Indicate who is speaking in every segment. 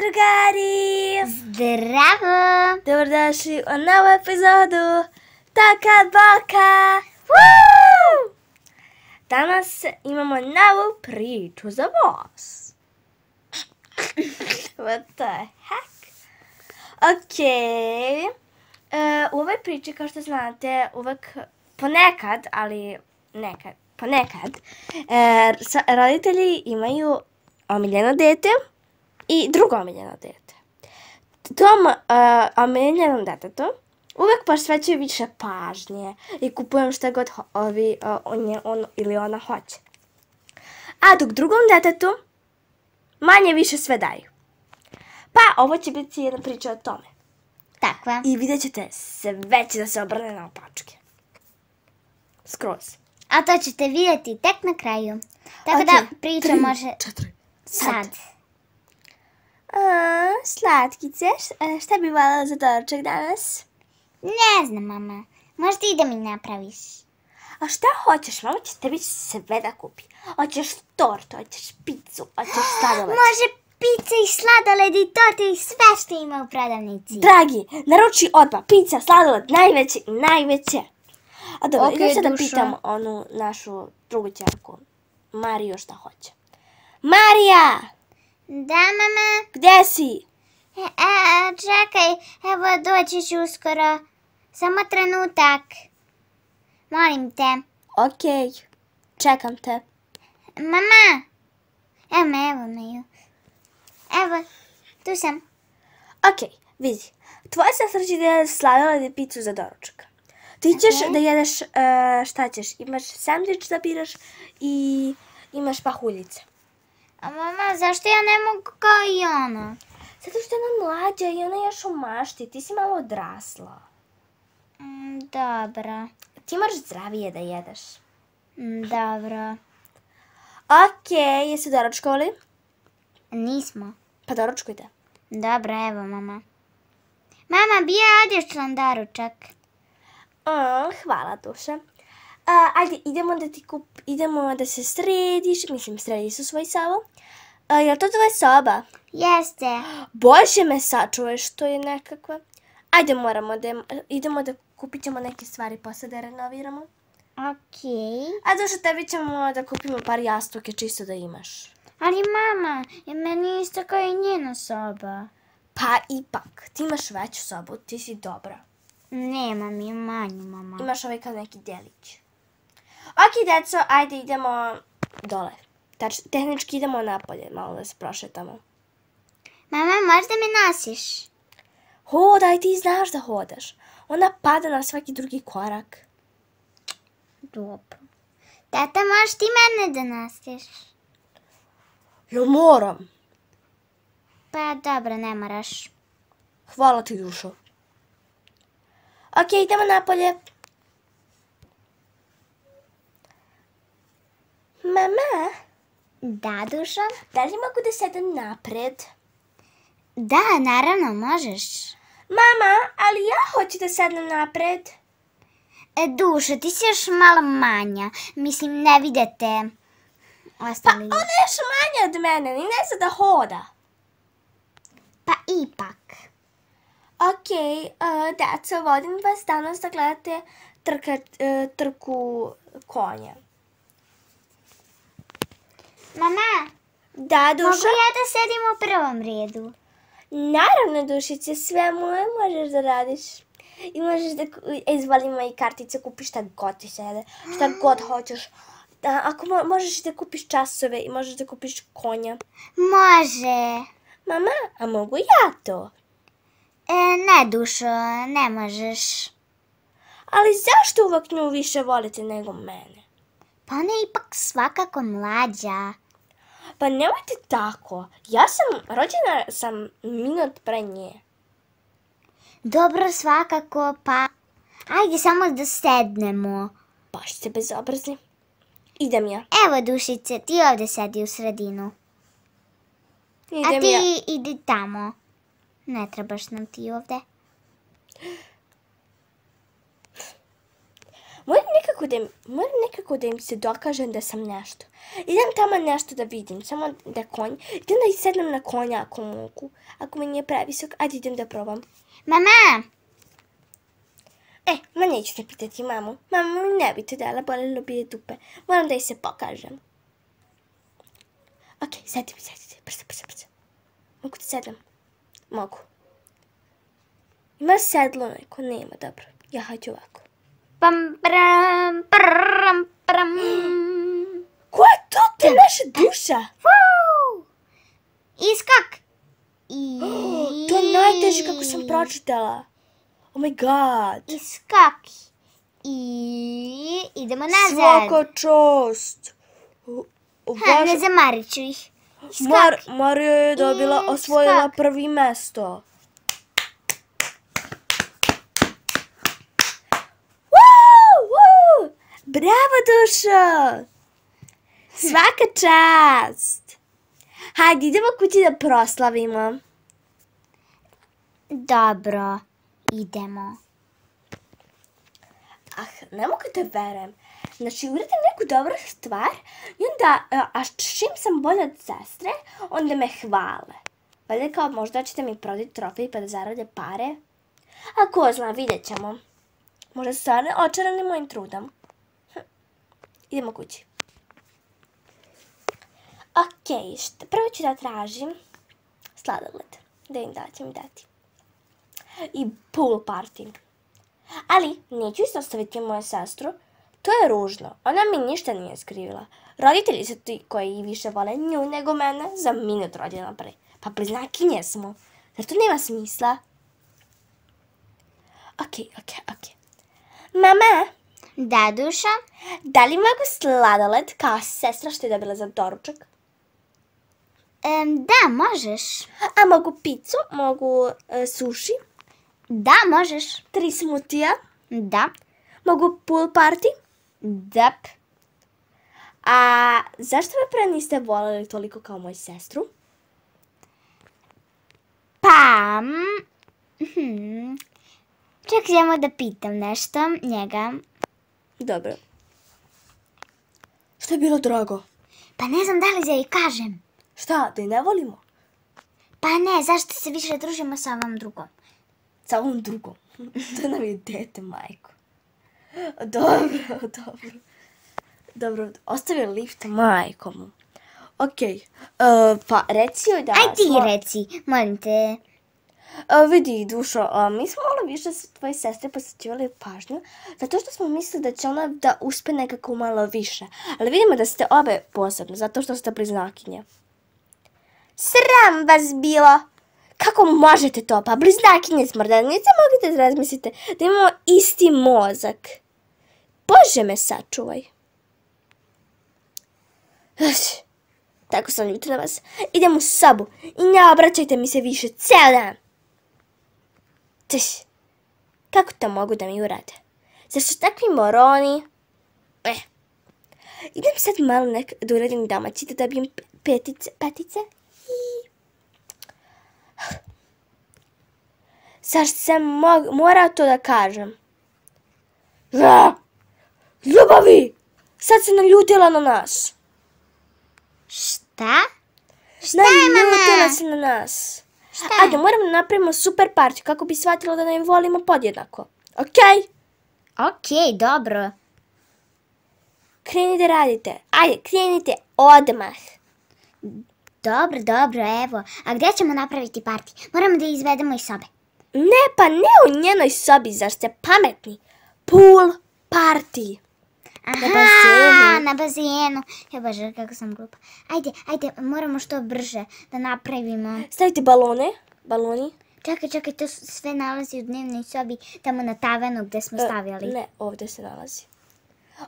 Speaker 1: drugari!
Speaker 2: Zdravo!
Speaker 1: Dobrodošli u novu epizodu Taka Baka! Danas imamo novu priču za vas. What the heck? Okej. U ovoj priči, kao što znate, uvek ponekad, ali ponekad, roditelji imaju omiljeno dete i drugo omiljeno dete. Tom omiljenom detetu uvek posvećuju više pažnje i kupujem šta god on ili ona hoće. A dok drugom detetu manje više sve daju. Pa ovo će biti jedna priča o tome.
Speaker 2: Tako je.
Speaker 1: I vidjet ćete, sve će da se obrne na opačke. Skroz.
Speaker 2: A to ćete vidjeti tek na kraju. Tako da priča može...
Speaker 1: 4.
Speaker 2: Sad.
Speaker 1: Slatkice, šta bi voljela za doručak danas?
Speaker 2: Ne znam, mama. Možda i da mi napraviš.
Speaker 1: A šta hoćeš? Mama će tebi sve da kupi. Hoćeš tortu, hoćeš picu, hoćeš sladoled.
Speaker 2: Može pizza i sladoled i torte i sve što ima u prodavnici.
Speaker 1: Dragi, naruči odmah pizza, sladoled, najveće. A dobro, idem sad da pitam onu našu drugu ćerku, Mariju, šta hoće. Marija!
Speaker 2: Da, mama?
Speaker 1: Gdje si?
Speaker 2: Čekaj, evo doći ću uskoro. Samo trenutak. Molim te.
Speaker 1: Okej, čekam te.
Speaker 2: Mama! Evo me ju. Evo, tu sam.
Speaker 1: Okej, vidi. Tvoja sestra će da jede sladoled i picu za doručak. Ti ćeš da jedeš, šta ćeš? Imaš sandvič da biraš i imaš pahuljice.
Speaker 2: A mama, zašto ja ne mogu kao i ona?
Speaker 1: Zato što je ona mlađa i ona još u mašti. Ti si malo odrasla.
Speaker 2: Dobro.
Speaker 1: Ti moraš zdravije da jedeš.
Speaker 2: Dobro.
Speaker 1: Okej, jesi doručkovali?
Speaker 2: Nismo.
Speaker 1: Pa doručkujte.
Speaker 2: Dobro, evo mama. Mama, bija odličan doručak.
Speaker 1: Hvala, duša. Ajde, idemo da se središ. Mislim, sredi su svoj sobu. Je li to tvoja soba?
Speaker 2: Jeste.
Speaker 1: Bože me sačuvaš, to je nekakva. Ajde, idemo da kupit ćemo neke stvari posle da renoviramo.
Speaker 2: Okej.
Speaker 1: A duša, tebi ćemo da kupimo par jastuke čisto da imaš.
Speaker 2: Ali mama, meni je isto kao i njena soba.
Speaker 1: Pa ipak, ti imaš veću sobu, ti si dobra.
Speaker 2: Nemam je manju, mama.
Speaker 1: Imaš ovaj kao neki delić. Ok, deco, ajde idemo dole. Tehnički idemo napolje, malo da se prošetamo.
Speaker 2: Mama, možda me nosiš?
Speaker 1: Hodaj, ti znaš da hodaš. Ona pada na svaki drugi korak.
Speaker 2: Dobro. Tata, možeš ti mene da nosiš?
Speaker 1: Jel moram?
Speaker 2: Pa dobro, ne moraš.
Speaker 1: Hvala ti, dušo. Ok, idemo napolje. Mama?
Speaker 2: Da, dušo?
Speaker 1: Da li mogu da sedem napred?
Speaker 2: Da, naravno, možeš.
Speaker 1: Mama, ali ja hoću da sednem napred.
Speaker 2: Dušo, ti si još malo manja. Mislim, ne vidite ostali.
Speaker 1: Pa ona je još manja od mene, ni ne zna da hoda.
Speaker 2: Pa ipak.
Speaker 1: Okej, deco, vodim vas danas da gledate trku konja.
Speaker 2: Mama,
Speaker 1: Da, duša?
Speaker 2: mogu ja da sedim u prvom redu?
Speaker 1: Naravno, dušice, sve moje možeš da radiš. I možeš da izvolimo i kartice, kupiš šta god ti sede, šta god hoćeš. Ako možeš da kupiš časove i možeš da kupiš konja.
Speaker 2: Može.
Speaker 1: Mama, a mogu ja to?
Speaker 2: Ne, dušo, ne možeš.
Speaker 1: Ali zašto uvek nju više volite nego mene?
Speaker 2: Pa ona je ipak svakako mlađa.
Speaker 1: Pa nemojte tako. Rođena sam minut pre nje.
Speaker 2: Dobro, svakako, pa... Ajde samo da sednemo.
Speaker 1: Baš ste bezobrazni. Idem ja.
Speaker 2: Evo, dušice, ti ovdje sedi u sredinu.
Speaker 1: Idem
Speaker 2: A ti
Speaker 1: ja.
Speaker 2: idi tamo. Ne trebaš nam ti ovdje.
Speaker 1: Moram nekako da im se dokažem da sam nešto. Idem tamo nešto da vidim, samo da konj. Idem da i sednem na konja ako mogu. Ako mi nije previsok, ajde idem da probam.
Speaker 2: Mama!
Speaker 1: Ma neću te pitati mamu. Mama mi ne bi to dala, bolelo bi je dupe. Moram da joj se pokažem. Ok, sedi, brzo. Mogu da sedem? Mogu. Ima sedlo neko? Nema, dobro. Ja hađu ovako.
Speaker 2: Pam, pram, pram, pram.
Speaker 1: Ko je to? To je naša duša.
Speaker 2: Woo! Iskak.
Speaker 1: To je najteže kako sam pročitala. Oh my god.
Speaker 2: Iskak. I idemo nazad.
Speaker 1: Svaka čast.
Speaker 2: Ne zamarit ću ih. Iskak.
Speaker 1: Marija je dobila, osvojila prvi mesto. Bravo, dušo! Svaka čast! Hajde, idemo kući da proslavimo.
Speaker 2: Dobro, idemo.
Speaker 1: Ne mogu da verujem. Znači, uradim neku dobru stvar i onda, a čim sam bolja od sestre, onda me hvale. Valjda kao možda ćete mi prodati trofej pa da zarade pare. A ko zna, vidjet ćemo. Možda su stvarno očarani mojim trudom. Idemo kući. Ok, prvo ću da tražim sladoled. Da im da će mi dati. I pool party. Ali neću izostaviti moju sestru. To je ružno. Ona mi ništa nije skrivila. Roditelji su ti koji više vole nju nego mene za minut rođena pre. Pa bliznakinje smo. Zar to nema smisla? Ok. Mama!
Speaker 2: Da, duša?
Speaker 1: Da li mogu sladoled kao sestra što je dobila za doručak?
Speaker 2: Da, možeš.
Speaker 1: A mogu picu? Mogu sushi?
Speaker 2: Da, možeš.
Speaker 1: 3 smutija?
Speaker 2: Da.
Speaker 1: Mogu pool party?
Speaker 2: Da.
Speaker 1: A zašto me pre niste voljeli toliko kao moju sestru?
Speaker 2: Pa... Čekajmo da pitam nešto njega.
Speaker 1: Dobro. Što je bilo drago?
Speaker 2: Pa ne znam da li da joj kažem.
Speaker 1: Šta, da je ne volimo?
Speaker 2: Pa ne, zašto se više družimo sa ovom drugom?
Speaker 1: Sa ovom drugom? To nam je dete, majko. Dobro, ostavi lift majkom. Ok, pa reci joj da...
Speaker 2: Aj ti reci, molim te.
Speaker 1: Vidi, dušo, mi smo malo više tvoje sestre posvećivali pažnju, zato što smo mislili da će ona da uspe nekako malo više. Ali vidimo da ste obe posebno, zato što ste bliznakinje. Sram vas bilo! Kako možete to? Pa bliznakinje smo, da niste mogli da razmislite da imamo isti mozak. Bože me sačuvaj. Tako sam ljuta na vas. Idem u sobu i ne obraćajte mi se više ceo dan. Kako to mogu da mi urade? Zar su takvi moroni? Idem sad malo da uradim domaći, da dobijem petice. Zar sam morao to da kažem? Ljubavi! Sad se naljutila na nas.
Speaker 2: Šta? Šta je, mama?
Speaker 1: Naljutila se na nas. Ajde, moramo da napravimo super party kako bi shvatila da ne volimo podjednako. Ok?
Speaker 2: Ok, dobro.
Speaker 1: Krenite radite. Ajde, krenite odmah.
Speaker 2: Dobro, evo. A gdje ćemo napraviti party? Moramo da izvedemo iz sobe.
Speaker 1: Ne, pa ne u njenoj sobi, zar ste pametni? Pool party.
Speaker 2: Aha, na bazenu. Ja bože, kako sam glupa. Ajde, moramo što brže da napravimo.
Speaker 1: Stavite baloni.
Speaker 2: Čekaj, to sve nalazi u dnevnoj sobi, tamo na tavanu gdje smo stavili.
Speaker 1: Ne, ovdje se nalazi.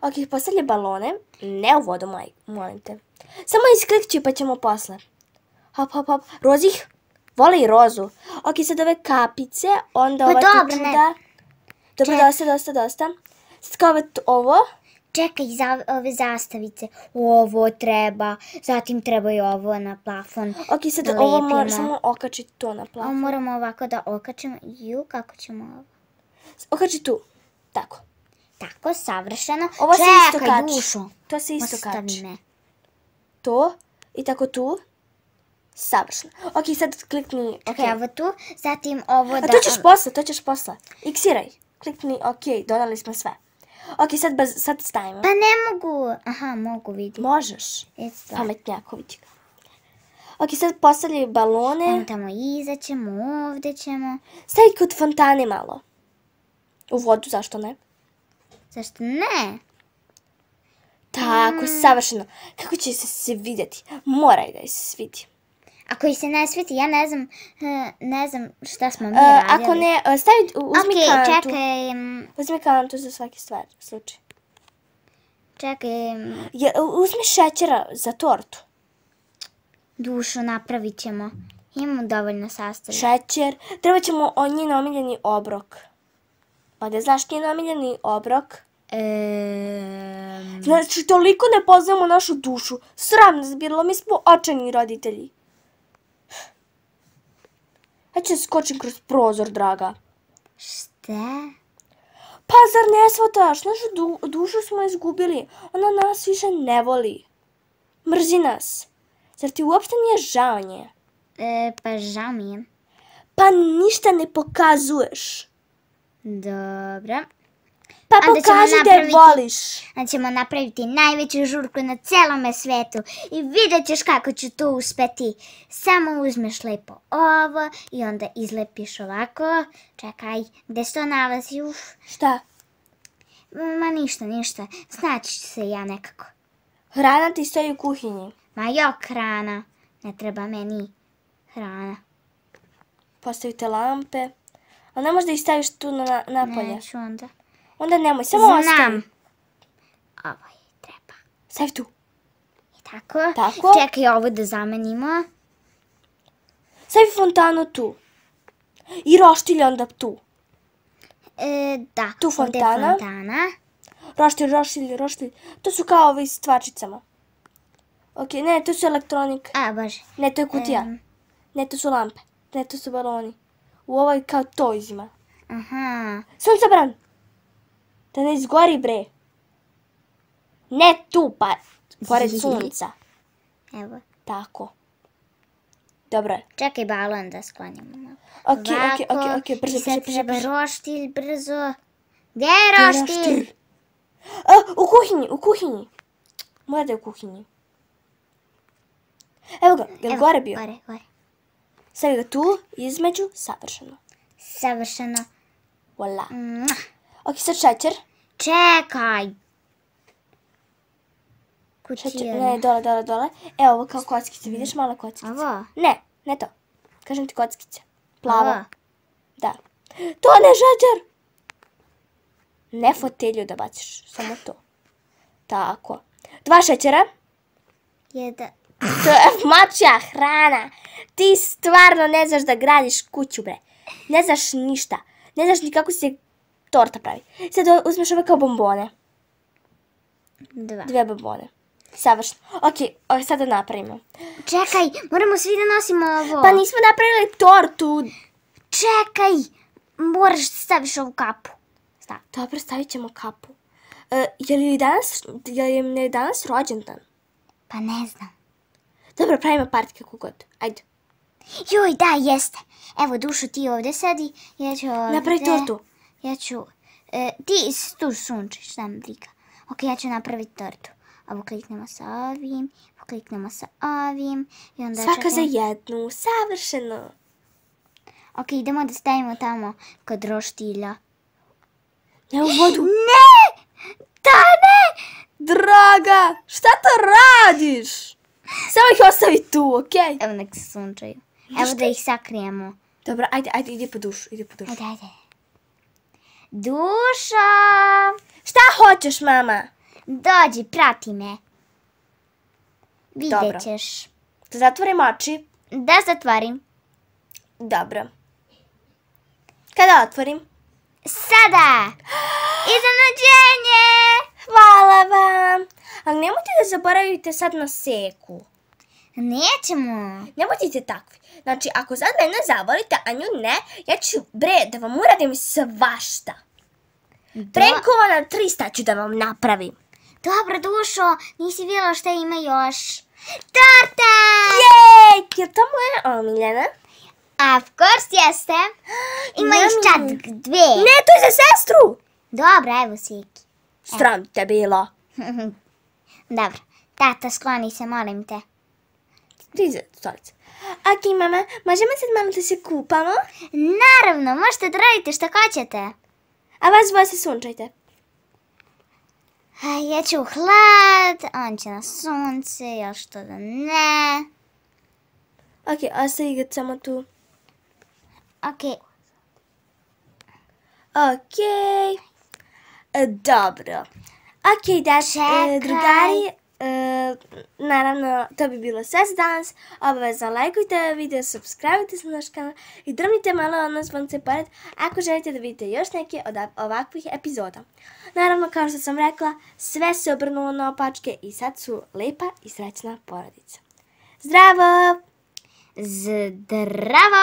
Speaker 1: Ok, postavlja balone, ne u vodu, molim te. Samo isklikći pa ćemo posle. Hop. Rozih, vole i rozu. Ok, sad ove kapice, onda ova čuda. Dobro, dosta. Sad kao ovo.
Speaker 2: Čekaj, za ove zastavice. Ovo treba, zatim treba i ovo na plafon.
Speaker 1: Ok, sad ovo moramo samo okačiti to na plafon.
Speaker 2: Ovo moramo ovako da okačimo. Kako ćemo ovo?
Speaker 1: Okači tu, tako.
Speaker 2: Tako, savršeno.
Speaker 1: Ovo se isto kači.
Speaker 2: Dušo.
Speaker 1: To se isto kači.
Speaker 2: Ostavi me.
Speaker 1: to i tako tu. Savršeno. Ok, sad klikni ok.
Speaker 2: Čekaj, ovo tu, zatim ovo da...
Speaker 1: A to ćeš posle. Iksiraj. Klikni ok, dodali smo sve. Ok, sad stavimo.
Speaker 2: Pa ne mogu. Aha, mogu vidjeti.
Speaker 1: Možeš. Pametnjaković. Ok, sad postavljaju balone.
Speaker 2: Evo tamo iza ćemo, ovdje ćemo.
Speaker 1: Stavi kod fontane malo. U vodu, zašto ne?
Speaker 2: Zašto ne?
Speaker 1: Tako, savršeno. Kako će se vidjeti? Moraj da je se svidi.
Speaker 2: Ako ih se ne sviti, ja ne znam šta smo mi radili.
Speaker 1: Ako ne, uzmi kantu.
Speaker 2: Ok, čekaj.
Speaker 1: Uzmi kantu za svaki slučaj.
Speaker 2: Čekaj.
Speaker 1: Uzmi šećera za tortu.
Speaker 2: Dušo, napravit ćemo. Imamo dovoljno sastojaka.
Speaker 1: Šećer. Treba ćemo njen omiljeni obrok. Pa da znaš njen omiljeni obrok? Znači, toliko ne poznajemo našu dušu. Sram nas bilo, mi smo očajni roditelji. Ja ću skočim kroz prozor, draga.
Speaker 2: Šta?
Speaker 1: Pa zar ne shvataš? Našu dušu smo izgubili. Ona nas više ne voli. Mrzi nas. Zar ti uopšte nije žao nje?
Speaker 2: Pa žao mi je.
Speaker 1: Pa ništa ne pokazuješ.
Speaker 2: Dobro.
Speaker 1: Pa pokaži da je voliš.
Speaker 2: Onda ćemo napraviti najveću žurku na celome svetu i vidjet ćeš kako ću to uspeti. Samo uzmeš lepo ovo i onda izlepiš ovako. Čekaj, gdje se to nalazi?
Speaker 1: Šta?
Speaker 2: Ma ništa. Znaći ću se ja nekako.
Speaker 1: Hrana ti stoji u kuhinji.
Speaker 2: Ma jok, hrana. Ne treba meni hrana.
Speaker 1: Postavite lampe. A ne možda ih staviš tu napolje?
Speaker 2: Neću onda.
Speaker 1: Onda nemoj, samo ostavi.
Speaker 2: Znam. Ovo je treba.
Speaker 1: Stavi tu.
Speaker 2: I tako.
Speaker 1: Tako.
Speaker 2: Čekaj ovo da zamenimo.
Speaker 1: Stavi fontanu tu. I roštilj onda tu.
Speaker 2: Da.
Speaker 1: Tu fontana. Roštilj. To su kao ovi s tvačicama. Ok, ne, to su elektronika.
Speaker 2: A, bože.
Speaker 1: Ne, to je kutija. Ne, to su lampe. Ne, to su baloni. U ovoj kao to izima.
Speaker 2: Aha.
Speaker 1: Suncobran. Da ne izgori, bre. Ne tu, pa pored sunca.
Speaker 2: Evo.
Speaker 1: Tako. Dobro je.
Speaker 2: Čekaj balon da sklonimo.
Speaker 1: Ok, brzo.
Speaker 2: I sad treba roštilj, brzo. Gdje je roštilj?
Speaker 1: U kuhinji. Mora da je u kuhinji. Evo ga, je li gore bio?
Speaker 2: Gore.
Speaker 1: Stavi ga tu, između, savršeno. Voila. Ok, sad šećer.
Speaker 2: Čekaj. Kutija.
Speaker 1: Ne, dole. Evo ovo kao kockice, vidiš mala kockica?
Speaker 2: Ovo?
Speaker 1: Ne to. Kažem ti kockice. Plavo.
Speaker 2: Ovo?
Speaker 1: Da. To ne šećer! Ne fotelju da baciš, samo to. Tako. 2 šećera.
Speaker 2: 1.
Speaker 1: To je mačja hrana. Ti stvarno ne znaš da gradiš kuću, bre. Ne znaš ništa. Ne znaš ni kako se torta pravi. Sad uzmeš ove kao bombone. 2 bombone. Savršeno. Ok, sad da napravimo.
Speaker 2: Čekaj, moramo svi da nosimo ovo.
Speaker 1: Pa nismo napravili tortu.
Speaker 2: Čekaj, moraš da staviš ovu kapu.
Speaker 1: Dobro, stavit ćemo kapu. Je li danas rođendan?
Speaker 2: Pa ne znam.
Speaker 1: Dobro, pravimo party kako god. Ajde.
Speaker 2: Joj, da, jeste. Evo, Dušo, ti ovdje sedi. Ja ću ovdje...
Speaker 1: Napravi tortu.
Speaker 2: Ja ću... Ti tu sunčiš, šta mi briga. Ok, ja ću napraviti tortu. Ovo kliknemo sa ovim, pokliknemo sa ovim. I onda
Speaker 1: svaka za jednu, savršeno.
Speaker 2: Ok, idemo da stavimo tamo kod roštilja.
Speaker 1: Ne u vodu.
Speaker 2: Ne! Ne!
Speaker 1: Draga, šta to radiš? Samo ih ostavi tu, okej?
Speaker 2: Evo nek se sunčaju. Evo da ih sakrijemo.
Speaker 1: Dobro, ajde, ide po dušu.
Speaker 2: Ajde. Dušo!
Speaker 1: Šta hoćeš, mama?
Speaker 2: Dođi, prati me. Vidjet ćeš.
Speaker 1: Da zatvorim oči?
Speaker 2: Da zatvorim.
Speaker 1: Dobro. Kada otvorim?
Speaker 2: Sada! Iznenađenje!
Speaker 1: Hvala vam! Ali nemojte da zaboravite sad na seku.
Speaker 2: Nećemo.
Speaker 1: Nemojte takvi. Znači, ako sad mene zavolite, a nju ne, ja ću, da vam uradim svašta. Prankovana 300 ću da vam napravim.
Speaker 2: Dobro, Dušo, nisi vidjela šta ima još. Torta!
Speaker 1: Jej, je to moja omiljena?
Speaker 2: Of course jeste. Ima još čak dve.
Speaker 1: Ne, to je za sestru.
Speaker 2: Dobro, evo Siki.
Speaker 1: Sram te bilo.
Speaker 2: Dobro, tata, skloni se, molim te.
Speaker 1: Priđe, stolice. Ok, mama, možemo sad malo da se kupamo?
Speaker 2: Naravno, možete da radite šta hoćete.
Speaker 1: A vas dvoje se sunčajte.
Speaker 2: Ja ću u hlad, on će na sunce, još što da ne.
Speaker 1: Ok, ostavi ga samo tu.
Speaker 2: Ok,
Speaker 1: Ok. Dobro. Ok, da,
Speaker 2: Čekaj.
Speaker 1: drugari, naravno, to bi bilo sve za danas. Obavezno lajkujte video, subscribe-ujte se na naš kanal i drmite malo ono zvonce pored ako želite da vidite još neke od ovakvih epizoda. Naravno, kao što sam rekla, sve se obrnulo na opačke i sad su lepa i srećna porodica. Zdravo!
Speaker 2: zdravo!